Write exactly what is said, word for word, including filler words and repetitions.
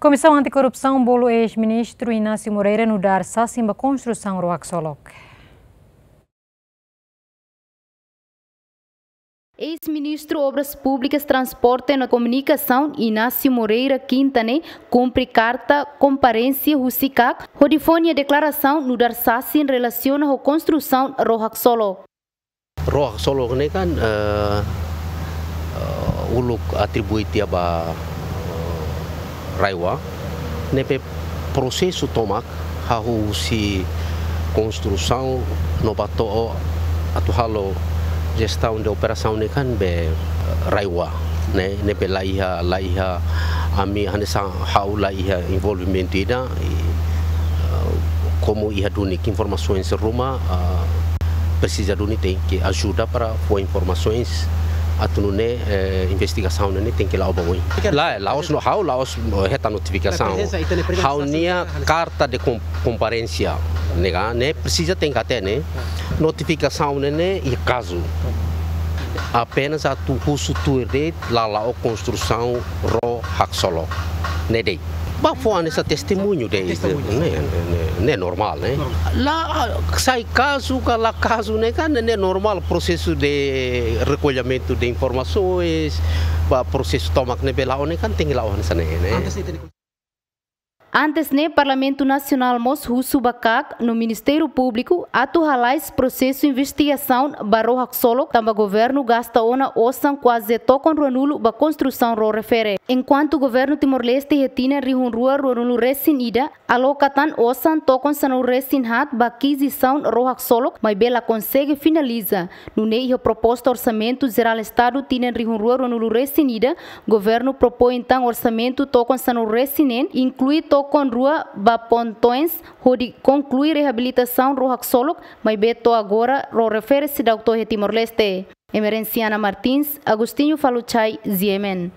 Komisaun Antikorrupsaun bolu eis-ministru Inácio Moreira nu'udar sasin ba konstrusaun ró haksolok. Eis-ministru Obras Públikas, Transporte no Komunikasaun, Inácio Moreira, Kinta ne'e, kumpre karta komparénsia husi KAK, hodi fó nia deklarasaun nu'udar sasin relasiona ho konstrusaun ró haksolok. Ró haksolok ne'e kan, eh, eh, uluk atribui tiha ba, eh, RAEOA, ne'ebé prosesu tomak, hahú husi konstrusaun no ba to'o atu halo jestaun de operasaun ne'e kan be, eh, RAEOA, ne'e, ne'ebé la iha, la iha, ami hanesan ha'u la iha envolvimentu ida, i, eh, komu iha duni informasaun ruma, eh, presiza duni tenke ajuda para fó informasaun atu nune'e, eh, investigasaun ne'e tenke la'o ba oin. Lae, la'ós no ha'u, la'ós hetan notifikasaun. Ha'u-nia karta de kom-, komparénsia, ne'e ka, ne'e presiza tenke hatene. Notifikasaun ne'e, ne'e iha kazu. Apenas atu husu tuir de'it la la'o konstrusaun ró haksolok. Ne'e de'it. Ba fó hanesan testemuñu de'it. Testemuñu. Ne'e, ne'e, ne'e, ne'e normál, ne'e? Normál. La, sai kazu ka la kazu ne'e kan, ne'e normál prosesu de rekollimentu de informasaun, ba prosesu tomak ne'ebé la'o ne'e kan tenke la'o hanesan ne'e, ne'e? Antes de tener Antes ne'e, Parlamentu Nasionál mós husu ba KAK no Ministériu Públiku atu halais prosesu investigasaun ba ró haksolok, tanba governu gasta ona osan kuaze tokon ruanulu ba konstrusaun ró refere. Enkuantu governu Timor-Leste iha tinan rihun rua ruanulu resin ida, aloka tan osan tokon sanulu resin haat ba akizisaun ró haksolok, maibé la konsege finaliza. Nune'e iha proposta Orsamentu Jerál Estadu tinan rihun rua ruanulu resin ida, governu propoin tan orsamentu tokon sanulu resin neen, inklui tokon rua ba pontoens, hodi konklui reabilitasaun ró haksolok, maibé to'o agora ró refere seidauk to'o iha Timor-Leste. Emerenciana Martins, Agostinho Faluchai, G M N.